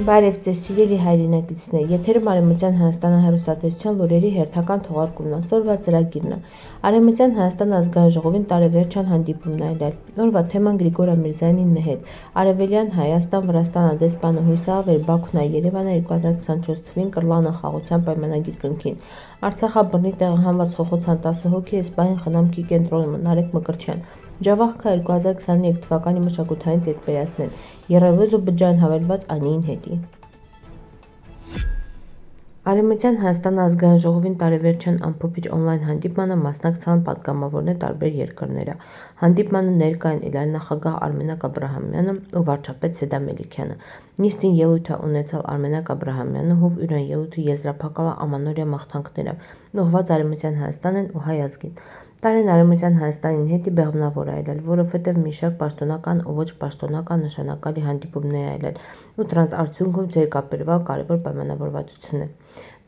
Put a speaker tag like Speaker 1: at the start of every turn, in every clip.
Speaker 1: Բարև ձեզ սիրելի հայրենակիցներ, եթերում Արևմտյան Հայաստանի հեռուստատեսության լուրերի հերթական թողարկումն է, օրվա ծրագիրն է։ Արևմտյան Հայաստանի ազգային ժողովին տարեվերջյան հանդիպումն է այլել։ Օրվա թեման Գրիգոր Ամիրզյանի հետ։ Արևելյան Հայաստան Վրաստան դեսպանը հույսավեր Բաքուն Երևանը 2024 թվին կռլանը խաղաղության պայմանագիր կնքին։ Արցախաբռնի տեղահանված խոխոցան 10 հոգի Էսպանիան խնամքի կենտրոնում Նարեկ Մկրտչյան։ Ջավախքը 2023 թվականի մշակութային տերպերացնել Եռևոզ ու բջջային հավելված Անիին հետի։ Արևմտյան Հայաստանի ազգային ժողովին տարեվերջյան ամփոփիչ օնլայն հանդիպմանը մասնակցան պատգամավորներ տարբեր երկրները։ Հանդիպմանը ներկա են Իլան նախագահ Արմենակ Աբրահամյանը ու վարչապետ Սեդա Մելիքյանը։ Նիստին ելույթ է ունեցել Արմենակ Աբրահամյանը, ով իրեն ելույթը եզրափակալ ամանորյա մաղթանքներով, ուղղված Արևմտյան Հայաստանին ու հայ ազգին։ Տարին Արևմտյան Հայաստանին հետի բեղմնավոր է այլել, որովհետև մի շարք պաշտոնական ու ոչ պաշտոնական նշանակալի հանդիպումներ է այլել ու դրանց արդյունքում ձերկապերվալ կարևոր պայմանավորվածություն է։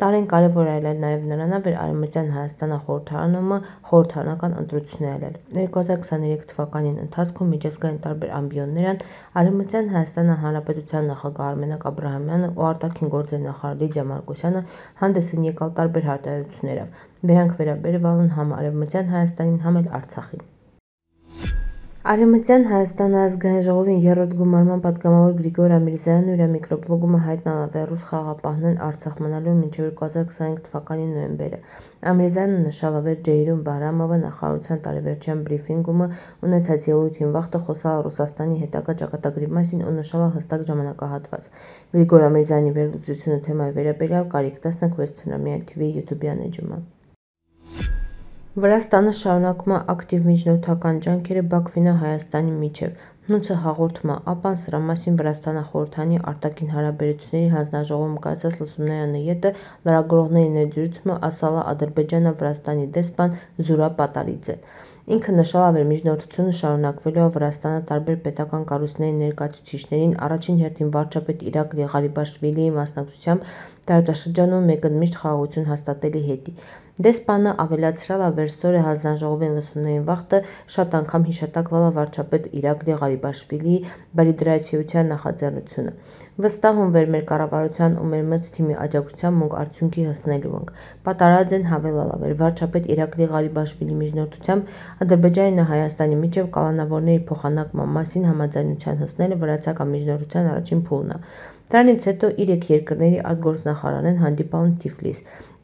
Speaker 1: Տարին կարևոր է այլել նաև նրանով, որ Արևմտյան Հայաստանը խորհրդարանական ընտրություններ այլել։ 2023 թվականին ընթացքում միջազգային տարբեր ամբիոններն Արևմտյան Հայաստանի Հանրապետության նախագահ Արմենակ Աբրահամյանը ու արտաքին գործերի նախարար Լիդիա Մարկոսյանը հանդես են եկալ տարբեր հայտարարություններով։ Դրանք վերաբերվել են համ Արևմտյան Հայաստանին, համ էլ Արցախին։ Արևմտյան Հայաստանի ազգային ժողովին երրորդ գումարման պատգամավոր Գրիգոր Ամիրզյանն իր միկրոբլոգում հայտնալ է ռուս խաղաղապահներն Արցախ մնալու մինչև 2025 թվականի նոյեմբերը։ Ամիրզյանը նշել է, որ Ջեյրուն Բահրամովը նախարարության տարեվերջյան բրիֆինգում ունեցած ելույթին վաղը խոսալ Ռուսաստանի հետագա ճակատագրի մասին ու նշել է հստակ ժամանակահատված։ Գրիգոր Ամիրզյանի վերլուծությունը թեմայի վերաբերյալ կարիք 16 ցնամյա TV YouTube-յան էջումը։ Վրաստանը շարունակում է ակտիվ միջնորդական ջանքերը Բաքվին Հայաստանի միջև։ Հնուցը հաղորդում է, ապան սրա մասին Վրաստանը խորհրդանի արտաքին հարաբերությունների հանձնաժողովում կայացած լսումնարանի ետը լրագրողների ներդրումը ասալ է Ադրբեջանը Վրաստանի դեսպան Զուրաբ Պատարիձեն։ Ինքը նշել է, որ միջնորդությունը շարունակվելու է Վրաստանը տարբեր պետական կառույցների ներկայացուցիչներին, առաջին հերթին վարչապետ Իրակլի Ղարիբաշվիլիի մասնակցությամբ տարածաշրջանում մեկընդմիշտ խաղաղություն հաստատելի հետի։ Դեսպանը ավելացրել է, որ Սորե հանձնաժողովի լսումներին վաղը շատ անգամ հիշատակվել է վարչապետ Իրակլի Ղարիբաշվիլիի բարիդրացիության նախաձեռնությունը։ Վստահում, որ մեր կառավարության ու մեր մեծ թիմի աջակցությամբ մենք արդյունքի հասնելու ենք։ Պատարաձեն հավելել է, որ վարչապետ Իրակլի Ղարիբաշվիլիի միջնորդությամբ Ադրբեջանի ու Հայաստանի միջև կալանավորների փոխանակման մասին համաձայնության հասնելը վրացական միջնորդության առաջին փուլն է։ Դրանից հետո 3 երկրների արտգործնախարարներն հանդիպել են Թիֆլիս։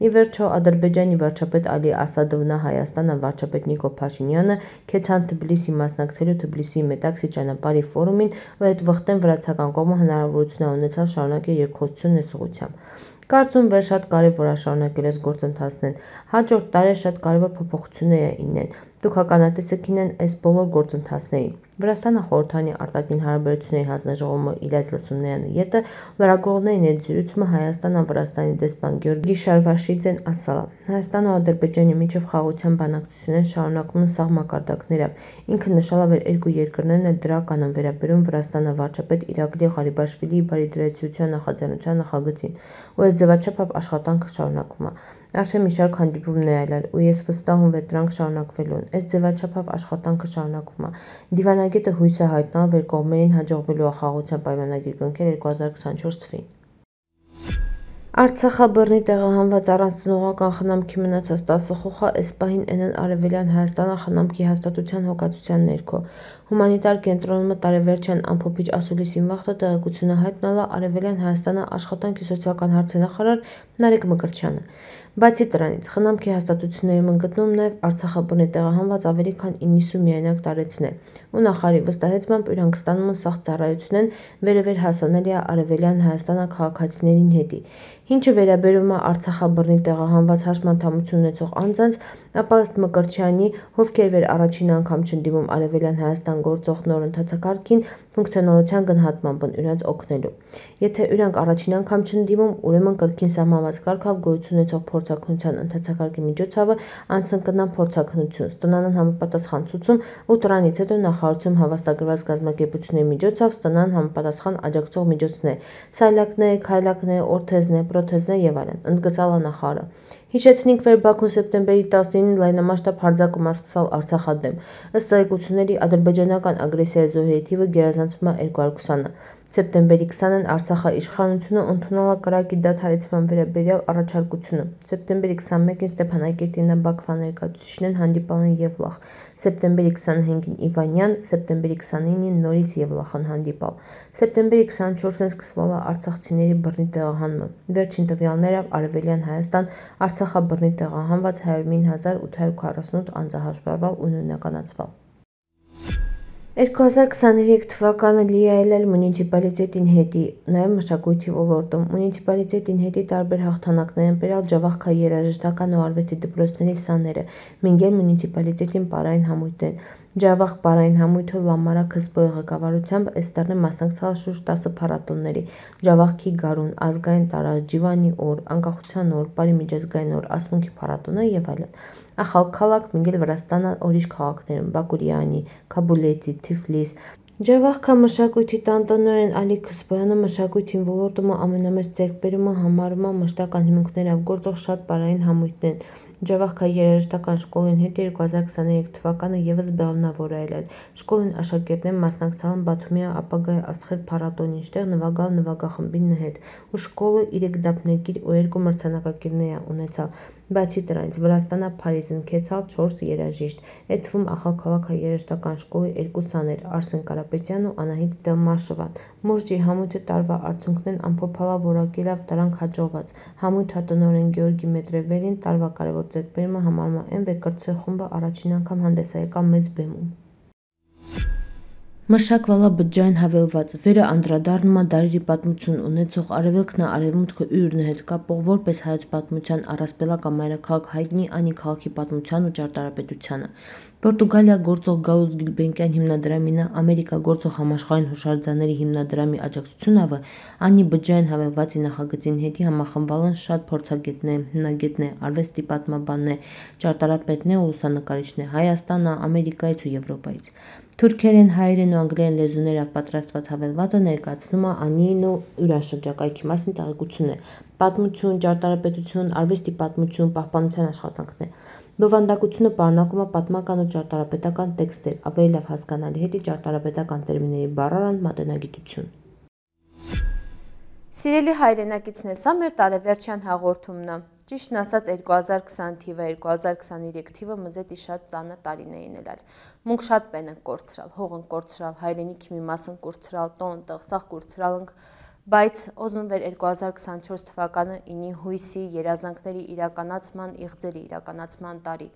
Speaker 1: Ի վերջո Ադրբեջանի վարչապետ Ալի Ասադովն Հայաստանի վարչապետ Նիկոլ Փաշինյանը քեցան Թբիլիսի մասնակցելու Թբիլիսի Մետաքսի ճանապարհի ֆորումին, ու այդ վխտեն վրացական կողմը հնարավորություն է ունեցել շարունակել երկխոսություն այս ուղղությամբ։ Կարծում որ շատ կարևոր է շարունակել այս գործընթացներն։ Հաջորդ տարի շատ կարևոր փոփոխություններ է ինեն։ Դուք հականատեսեք ինեն այս բոլոր գործընթացներին։ Վրաստանը խորհրդանի արտաքին հարաբերությունների հանձնաժողովում իրաց լսումնարանի ետը լրագրողների ներդրումը Հայաստանը Վրաստանի դեսպան Գյորգի Շարվաշիձեն ասել է. Հայաստանը ու Ադրբեջանի միջև խաղաղության բանակցությունները շարունակվում են սահմակարգներով։ Ինքը նշել է, որ երկու երկրներն էլ դրական են վերաբերում Վրաստանը վարչապետ Իրակլի Ղարիբաշվիլիի բարիդրացիության նախաձեռնության նախագծին, ու այս ձևաչափ աշխատանքը շարունակվում է։ Արդեն մի շարք հանդիպումներ այլել, ու ես վստահում, որ դրանք շարունակվելու են։ Այս ձևաչափ աշխատանքը շարունակվում է։ Դիվանագետը հույս է հայտնել, որ կողմերին հաջողվելու է խաղաղության պայմանագիր կնքել 2024 թվին։ Արցախաբռնի տեղահանված առանց ծնողական խնամքի մնացած 10 խոհը այս պահին են Արևելյան Հայաստանը խնամքի հաստատության հոգացության ներքո։ Հումանիտար կենտրոնում տարեվերջյան ամփոփիչ ասուլիսին վաղը տեղեկությունը հայտնել է Արևելյան Հայաստանի աշխատանք ու սոցիալական հարցերի նախարար Նարեկ Մկրտչյանը։ Բացի դրանից, խնամքի հաստատություններում են գտնվում նաև Արցախաբռնի տեղահանված ավելի քան 90 միայնակ տարեցներ, ու նախարարի վստահեցմամբ իրանք ստանում են սաղ ծառայությունեն վերևեր հասանելի է Արևելյան Հայաստանի քաղաքացիներին հետի։ Ինչը վերաբերում է Արցախաբռնի տեղահանված հաշմանդամություն ունեցող անձանց, ապա ըստ Մկրտչյանի, ովքեր որ առաջին անգամ չեն դիմում Արևելյան Հայաստան գործող նոր ընթացակարգին, ֆունկցիոնալության գնահատմամբ են իրանց օգնելու։ Եթե իրանք առաջին անգամ չեն դիմում, ուրեմն կրկին սահմանված կարգով գոյություն ունեցող փորձաքննության ընթացակարգի միջոցով անցն կնան փորձաքննություն, ստանան համապատասխան ցուցում ու դրանից հետո նախարարությունում հավաստագրված կազմակերպությունների միջոցով ստանան համապատասխան աջակցող միջոցներ՝ սայլակներ, քայլակներ, օրթեզներ, պրոթեզներ եւ այլն, ընդգծել է նախարարը։ Հիշեցնենք, որ Բաքուն սեպտեմբերի 19-ին լայնամասշտաբ հարձակում է սկսել Արցախադեմ։ Ըստ տեղեկությունների, ադրբեջանական ագրեսիայի զոհերի թիվը գերազանցում է 220-ը։ Սեպտեմբերի 20-ն Արցախի իշխանությունը ընդունել է կրակի դադարեցման վերաբերյալ առաջարկությունը։ Սեպտեմբերի 21-ին Ստեփանակերտի Բաքվա ներկայացուցիչներն հանդիպել են Եվլախ։ Սեպտեմբերի 25-ին Իվանյան, սեպտեմբերի 29-ին նորից Եվլախ են հանդիպել։ Սեպտեմբերի 24-ին սկսվել է արցախցիների բռնի տեղահանումը։ Վերջին տվյալներով Արևելյան Հայաստան Արցախա բռնի տեղահանված 109.848 անձ հաշվառվել ու նույնականացվել։ 2023 թվականը լի է ելել մունիցիպալիտետին հետի, նաև մշակույթի ոլորտում։ Մունիցիպալիտետին հետի տարբեր հաղթանակներ են բերել Ջավախքայի երաժշտական ու արվեստի դպրոցների սաները, մինչև մունիցիպալիտետին պարային համույթներն։ Ջավախք պարային համույթը Լամարա Քսբոյի ղեկավարությամբ այս տարի մասնակցել է շուրջ 10 փառատոների՝ Ջավախքի գարուն, ազգային տարած, Ջիվանի օր, Անկախության օր, Պարի միջազգային օր, ասմունքի փառատոնը եւ այլն։ Ախալ քաղաք մինչև Վրաստանը ուրիշ քաղաքներում՝ Բաքուրյանի, Քաբուլեցի, Թիֆլիս։ Ջավախքա մշակույթի տանտոնորեն Ալի Քսբոյանը մշակույթի ոլորտում ամենամեծ ձեռքբերումը համարում է մշտական հիմունքներով գործող շատ պարային համույթներն։ Ջավախքայի երաժշտական շկոլին հետ 2023 թվականը ևս բեղմնավոր է ելել։ Շկոլին աշակերտներն մասնակցել են Բաթումի ապագայի աստղեր փառատոնին, ինչտեղ նվագալ նվագախմբի հետ, ու շկոլը 3 դափնեկիր ու 2 մրցանակակիրներ է ունեցել։ Բացի դրանից Վրաստանը Փարիզին քեցալ 4 երաժիշտ, այդ թվում Ախալքաղաքի երաժշտական շկոլի 2 սաներ՝ Արսեն Կարապետյանն ու Անահիտ Դելմաշովան։ Մուրճի համույթը տարվա արդյունքներն ամփոփել է որակելով դրանք հաջողված։ Համույթը տնօրեն Գեորգի Մետրևելին տարվա կարևոր ձեռքբերումը համարում է այն, որ կրտսեր խումբը առաջին անգամ հանդես է եկել մեծ բեմում։ Մշակվել է բջջային հավելված, վերը անդրադառնում է դարերի պատմություն ունեցող Արևելքն Արևմուտքը ուրն հետ կապող որպես հայոց պատմության առասպելական մայրաքաղաք հայտնի Անի քաղաքի պատմության ու ճարտարապետությանը։ Պորտուգալիա գործող Գալուս Գյուլբենկյան հիմնադրամին Ամերիկա գործող Համաշխարհային հուշարձանների հիմնադրամի աջակցությունով Անի բջջային հավելվածի նախագծին հետի համախմբվել են շատ փորձագետներ, հիմնագետներ, արվեստի պատմաբաններ, ճարտարապետներ ու լուսանկարիչներ Հայաստանը, Ամերիկայից ու Եվրոպայից։ Թուրքերեն, հայերեն ու անգլերեն լեզուներով պատրաստված հավելվածը ներկայացնում է Անիին ու յուրաշրջակայքի մասին տեղեկություններ, պատմություն, ճարտարապետություն, արվեստի պատմություն, պահպանության աշխատանքներ։ Բովանդակությունը պարունակում է պատմական ու ճարտարապետական տեքստեր, ավելի լավ հասկանալի հետի ճարտարապետական տերմինների բառարան մատենագիտություն։
Speaker 2: Սիրելի հայրենակիցներ, սա մեր տարեվերջյան հաղորդումն է։ Ճիշտն ասած 2020 թիվը, 2023 թիվը մզետի շատ ծանր տարիներին ելալ։ Մունք շատ պեն ենք կորցրալ, հող ենք կորցրալ, հայրենիքի մի մաս ենք կորցրալ, տոն, տղսաղ կորցրալ ենք, բայց օզում վեր 2024 թվականը ինի հույսի, երազանքների իրականացման, իղձերի իրականացման տարի։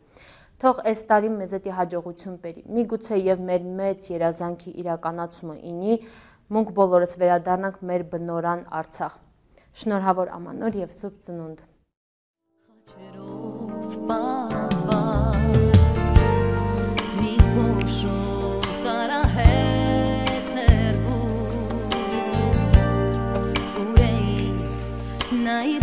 Speaker 2: Թող այս տարին մեզետի հաջողություն բերի։ Միգուցե եւ մեր մեծ երազանքի իրականացումը ինի, մունք բոլորս վերադառնանք մեր բնորան Արցախ։ Շնորհավոր ամանոր եւ սուրբ ծնունդ։
Speaker 3: Night